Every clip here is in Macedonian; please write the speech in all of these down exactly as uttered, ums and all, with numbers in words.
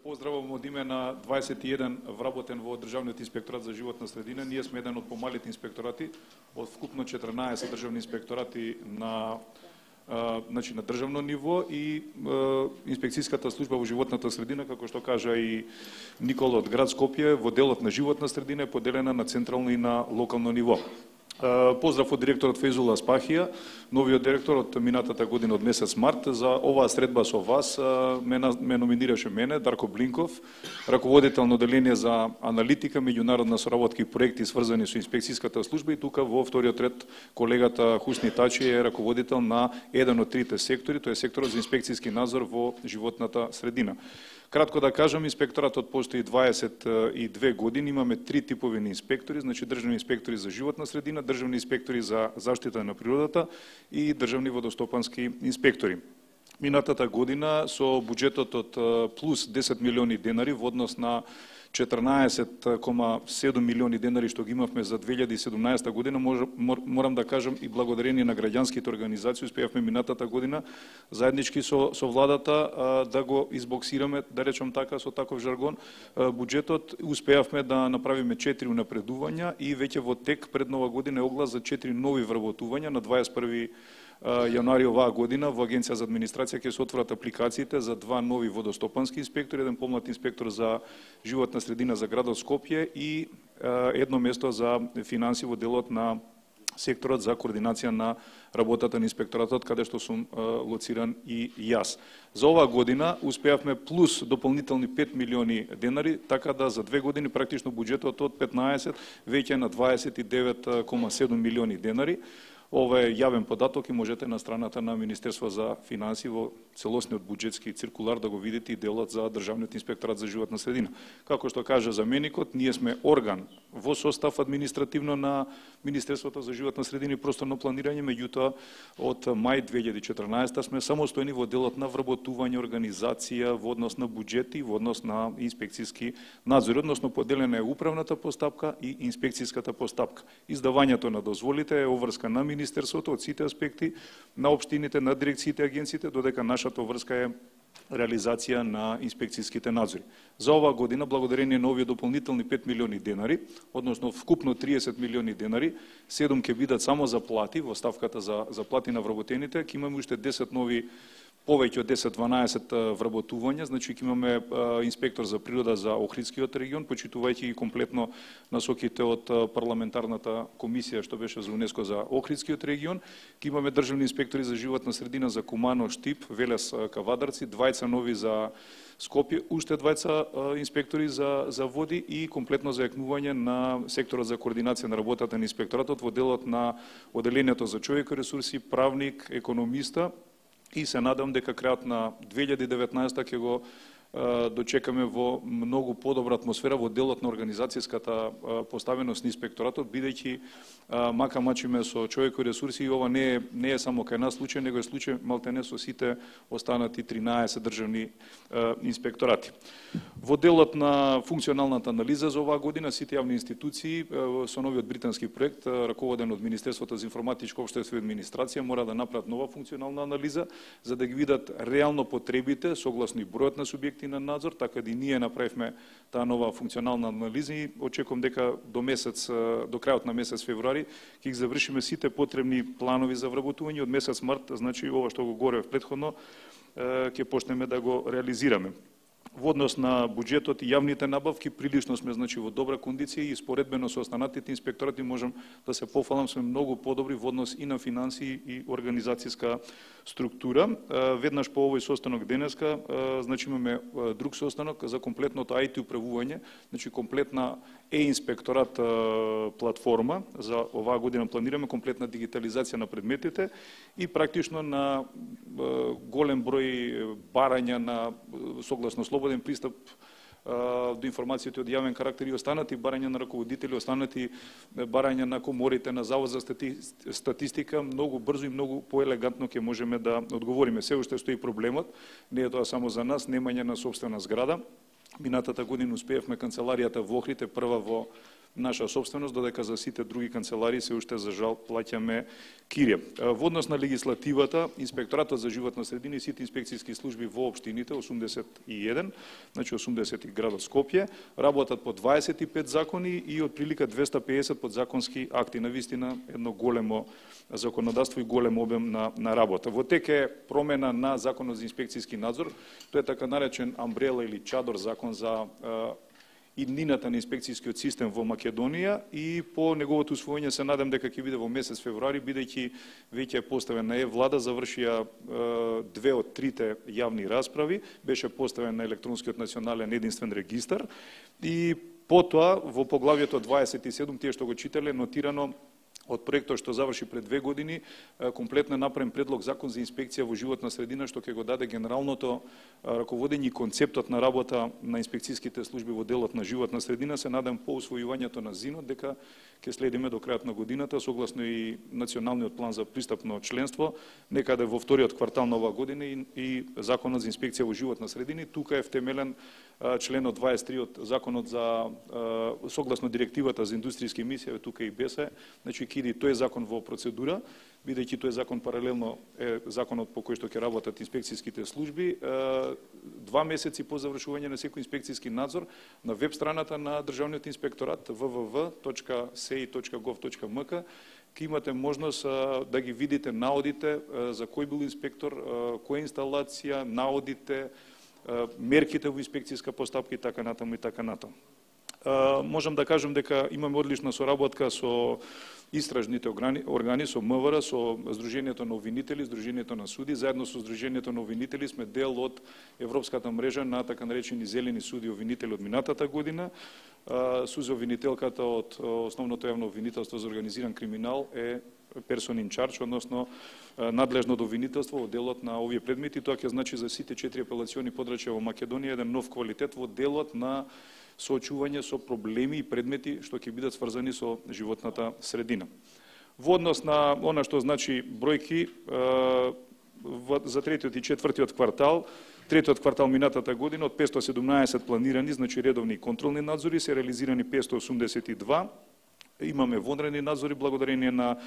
поздравувам од име на дваесет и еден вработен во Државниот инспекторат за животна средина. Ние сме еден од помалите инспекторати од вкупно четрнаесет државни инспекторати на а, значи на државно ниво и а, инспекцијската служба во животната средина, како што кажа и Никола од град Скопје, во делот на животна средина е поделена на централно и на локално ниво. Поздрав од директорот Фейзула Спахија, новиот директор од минатата година од месец март. За оваа средба со вас ме, ме номинираше мене, Дарко Блинков, раководител на оделение за аналитика, меѓународна соработка и проекти сврзани со инспекцијската служба, и тука во вториот ред колегата Хусни Тачи е раководител на еден од трите сектори, тоа е секторот за инспекцијски надзор во животната средина. Кратко да кажам, инспекторатот постои дваесет и две години, имаме три типови на инспектори, значи државни инспектори за животна средина, државни инспектори за заштита на природата и државни водостопански инспектори. Минатата година со буџетот од плюс десет милиони денари во однос на четрнаесет кома седум милиони денари што ги имавме за две илјади и седумнаесета година, морам да кажам и благодарение на граѓанските организации успеавме минатата година заеднички со со владата да го избоксираме, да речам така со таков жаргон, буџетот. Успеавме да направиме четири унапредувања и веќе во тек пред нова година е оглас за четири нови вработувања. На дваесет и први јануари оваа година во Агенција за администрација ќе се отворат апликациите за два нови водостопански инспектори, еден помлад инспектор за животна средина за градот Скопје и едно место за финанси во делот на секторот за координација на работата на инспекторатот, каде што сум лоциран и јас. За оваа година успеавме плюс дополнителни пет милиони денари, така да за две години практично буџетот од петнаесет веќе на дваесет и девет кома седум милиони денари. Ова е јавен податок и можете на страната на Министерство за финансии во целосниот буџетски циркулар да го видите и делот за Државниот инспекторат за животна средина. Како што кажа заменикот, ние сме орган во состав административно на Министерството за животна средина и просторно планирање, меѓутоа од мај две илјади и четрнаесета сме самостојни во делот на вработување, организација, во однос на буџети, во однос на инспекцијски надзор, односно поделена е управната постапка и инспекцијската постапка. Издавањето на дозволите е обврска на Министерството од сите аспекти, на општините, на дирекциите, агенциите, додека нашата врска е реализација на инспекцијските надзори. За оваа година, благодарение на овие дополнителни пет милиони денари, односно вкупно триесет милиони денари, седум ќе бидат само за плати, во ставката за, за плати на вработените, ќе имаме уште десет нови, повеќе од десет-дванаесет вработувања, значи ќе имаме а, инспектор за природа за Охридскиот регион, почитувајќи ги комплетно насоките од парламентарната комисија што беше за УНЕСКО за Охридскиот регион. Ќе имаме државни инспектори за животна средина за Кумано, Штип, Велес, Кавадарци, двајца нови за Скопје, уште двајца инспектори за, за води и комплетно зајакнување на секторот за координација на работата на инспекторатот во делот на оделението за човеко ресурси, правник, економиста. И се надам дека крајот на две илјади и деветнаесета ќе го дочекаме во многу подобра атмосфера во делот на организацијската поставеност на инспекторатот, бидејќи мака мачиме со човеко ресурси и ова не е не е само кај нас случај, него е случај малтене со сите останати тринаесет државни инспекторати. Во делот на функционалната анализа за оваа година сите јавни институции со новиот британски проект раководен од Министерството за информатичко општество и администрација мора да направат нова функционална анализа за да ги видат реално потребите согласно и бројот на субјекти на надзор, така да и ние направивме таа нова функционална анализа и очекувам дека до месец до крајот на месец февруари ќе ги завршиме сите потребни планови за вработување. Од месец март, значи ова што го говорев претходно, ќе почнеме да го реализираме. Во однос на буџетот и јавните набавки прилично сме значи во добра кондиција и споредбено со останатите инспекторати можам да се пофалам сме многу подобри во однос и на финансии и организацијска структура. Веднаш по овој состанок денеска значи имаме друг состанок за комплетното ај ти управување, значи комплетна е-инспекторат платформа. За оваа година планираме комплетна дигитализација на предметите и практично на голем број барања на согласно слободен пристап до информациите од јавен карактер и останати барања на раководители, останати барања на коморите, на Завод за статистика, многу брзо и многу поелегантно ќе можеме да одговориме. Се уште стои проблемот, не е тоа само за нас, немање на сопствена зграда. Минатата година успеевме канцеларијата во Охрид, прва во наша собственост, додека за сите други канцеларии се уште за жал плаќаме кирија. Во однос на легислативата, Инспекторатот за животна средина и сите инспекцијски служби во општините, осумдесет и еден, значи осумдесет градот Скопје, работат по дваесет и пет закони и отприлика двесте и педесет подзаконски акти. Навистина едно големо законодавство и голем обем на, на работа. Во тек е промена на Законот за инспекцијски надзор, тоа е така наречен амбрела или чадор закон за иднината на инспекцијскиот систем во Македонија и по неговото усвоење се надам дека ќе биде во месец февруари, бидејќи веќе е поставен на Е-влада, завршија две од трите јавни расправи, беше поставен на електронскиот национален единствен регистар и потоа во поглавјето дваесет и седум, тие што го читале, нотирано од проектот што заврши пред две години, комплетно направен предлог закон за инспекција во животна средина, што ќе го даде генералното раководење и концептот на работа на инспекцијските служби во делот на животна средина. Се надам по усвојувањето на ЗИНот дека ќе следиме до крајот на годината, согласно и националниот план за пристапно членство, некаде во вториот квартал на оваа година и, и законот за инспекција во животна средина. Тука е втемелен членот дваесет и три од законот за согласно директивата за индустријски емисии, тука и бесе, значи киди тој закон во процедура, бидејќи тој закон паралелно е законот по кој што ќе работат инспекцијските служби. Два месеци по завршување на секој инспекцијски надзор на веб страната на Државниот инспекторат w w w точка с и точка гов точка м к ќе имате можност да ги видите наодите за кој бил инспектор, која инсталација, наодите, мерките во инспекцијска постапка и така натаму и така натаму. Можам да кажам дека имаме одлична соработка со истражните органи, со М В Р, со Сдруженијето на обвинители, Сдруженијето на суди, заедно со Сдруженијето на обвинители сме дел од Европската мрежа на така наречени зелени суди и обвинители од минатата година. Сузе обвинителката од Основното јавно обвинителство за организиран криминал е person in charge, односно надлежно од обвинителство во делот на овие предмети. Тоа ќе значи за сите четири апелациони подрачја во Македонија еден нов квалитет во делот на соочување со проблеми и предмети што ќе бидат сврзани со животната средина. Во однос на она што значи бројки за третиот и четвртиот квартал, третиот квартал минатата година од петстотини и седумнаесет планирани, значи редовни контролни надзори, се реализирани петстотини и осумдесет и два. Имаме вонредни надзори благодарение на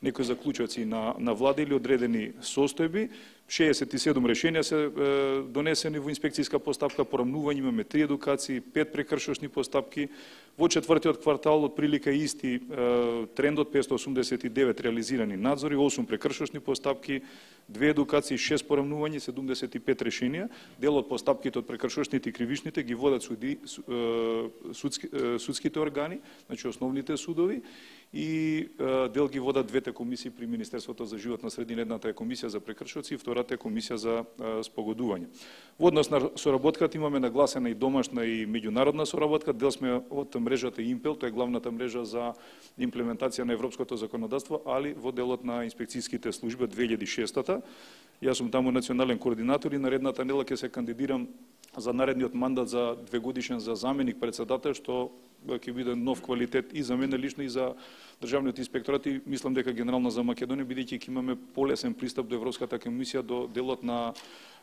некои заклучоци на, на влада или одредени состојби. шеесет и седум решенија се е, донесени во инспекцијска постапка, порамнување, имаме три едукации, пет прекршошни постапки. Во четвртиот квартал од прилика исти е, трендот, петстотини и осумдесет и девет реализирани надзори, осум прекршошни постапки, две едукации, шест порамнувања, седумдесет и пет решенија. Дел од постапките од прекршошните и кривишните ги водат суди, судски, судските органи, значи основните судови, и дел ги водат двете комисии при Министерството за животна средина. Едната е комисија за прекршоци и втората е комисија за спогодување. Во однос на соработката имаме нагласена и домашна и меѓународна соработка. Дел сме од мрежата Импел, тоа е главната мрежа за имплементација на европското законодавство, али во делот на инспекцијските служби од две илјади и шеста. Јас сум таму национален координатор и наредната недела ќе се кандидирам за наредниот мандат за две годишен за заменик председател, што ќе биде нов квалитет и за мене лично и за Државниот инспекторат и мислам дека генерално за Македонија, бидејќи ќе имаме полесен пристап до Европската комисија, до делот на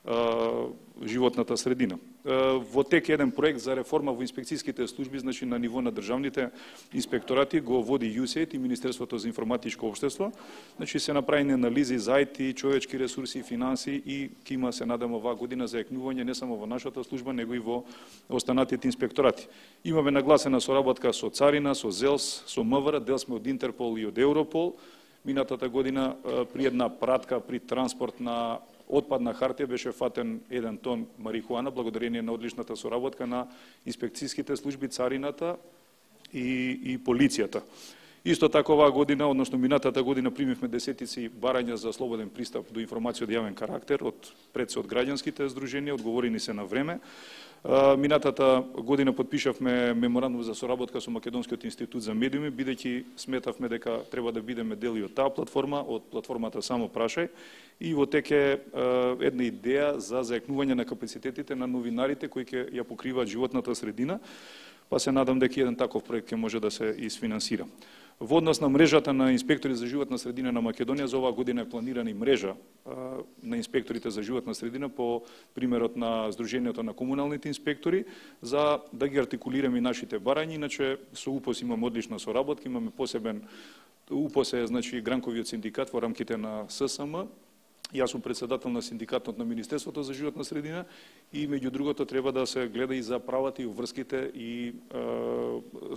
а, животната средина. А, во тек еден проект за реформа во инспекцијските служби, значи на ниво на државните инспекторати, го води ЮСЕЙД и Министерството за информатичко општество. Значи се направени анализи за ай ти, човечки ресурси, финанси и ќе има, се надам, оваа година зајакнување не само во нашата служба, него и во останатите инспекторати. Имаме нагласена соработка со Царина, со ЗЕЛС, со М В Р, дел сме од Интерпол и од Европол. Минатата година при една пратка при транспорт на отпадна хартија беше фатен еден тон марихуана, благодарение на одличната соработка на инспекцијските служби, Царината и, и полицијата. Исто така оваа година, односно минатата година, примивме десетици барања за слободен пристап до информација од јавен карактер, од пред се од граѓанските здруженија, одговорени се на време. Минатата година подпишавме меморандум за соработка со Македонскиот институт за медиуми, бидејќи сметавме дека треба да бидеме дел и од таа платформа, од платформата Само прашај, и во тек е една идеја за зајакнување на капацитетите на новинарите кои ќе ја покриваат животната средина, па се надам дека еден таков проект ќе може да се исфинансира. Во однос на мрежата на инспектори за животна средина на Македонија, за оваа година е планирана и мрежа на инспекторите за животна средина по примерот на Сдруженијето на комуналните инспектори, за да ги артикулираме нашите барања. Иначе со УПОС имаме одлична соработка, имаме посебен УПОС е, значи, гранковиот синдикат во рамките на ССМ. Јас сум председател на синдикатот на Министерството за животна средина и меѓу другото треба да се гледа и за правата и врските и е,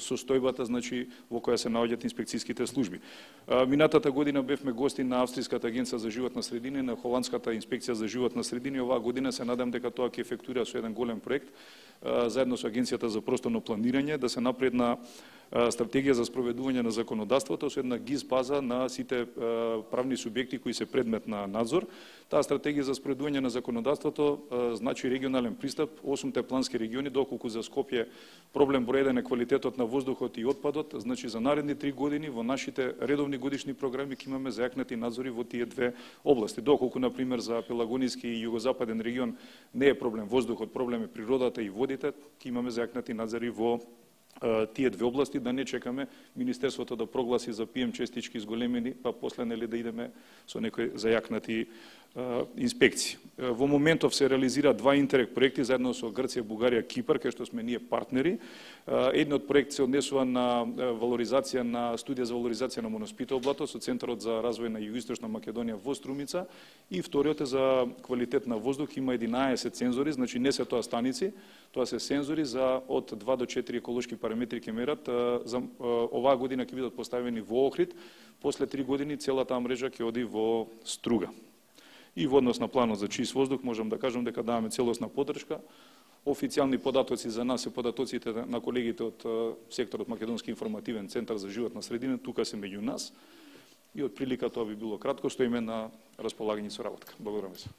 состојбата, значи, во која се наоѓаат инспекцијските служби. Е, минатата година бевме гости на Австријската агенција за животна средина и на Холандската инспекција за животна средина и оваа година се надам дека тоа ќе ефектуира со еден голем проект е, заедно со Агенцијата за просторно планирање да се напредна стратегија за спроведување на законодавството со една ГИС база на сите правни субјекти кои се предмет на надзор. Таа стратегија за спроведување на законодавството значи регионален пристап, осумте плански региони, доколку за Скопје проблем број еден е квалитетот на воздухот и отпадот, значи за наредни три години во нашите редовни годишни програми ќе имаме зајакнати надзори во тие две области. Доколку на пример за Пелагониски и југозападен регион не е проблем воздухот, проблем е природата и водите, ќе имаме зајакнати надзори во тие две области, да не чекаме Министерството да прогласи за пием честички зголемени, па после нели да идеме со некои зајакнати инспекции. Во моментов се реализира два интерек проекти заедно со Грција, Бугарија, Кипар, кај што сме ние партнери. Едниот проект се однесува на валоризација на студија за валоризација на Моноспитово блато со Центарот за развој на Југоисточна Македонија во Струмица, и вториот е за квалитет на воздух, има единаесет сензори, значи не се тоа станици, тоа се сензори за од два до четири еколошки параметри ќе мерат. За оваа година ќе бидат поставени во Охрид, после три години целата мрежа ќе оди во Струга. И во однос на планот за чист воздух можам да кажам дека даваме целосна поддршка. Официјални податоци за нас се податоците на колегите од секторот Македонски информативен центар за животна средина, тука се меѓу нас. И од прилика тоа би било кратко, стоиме на располагање со работка. Благодарам се.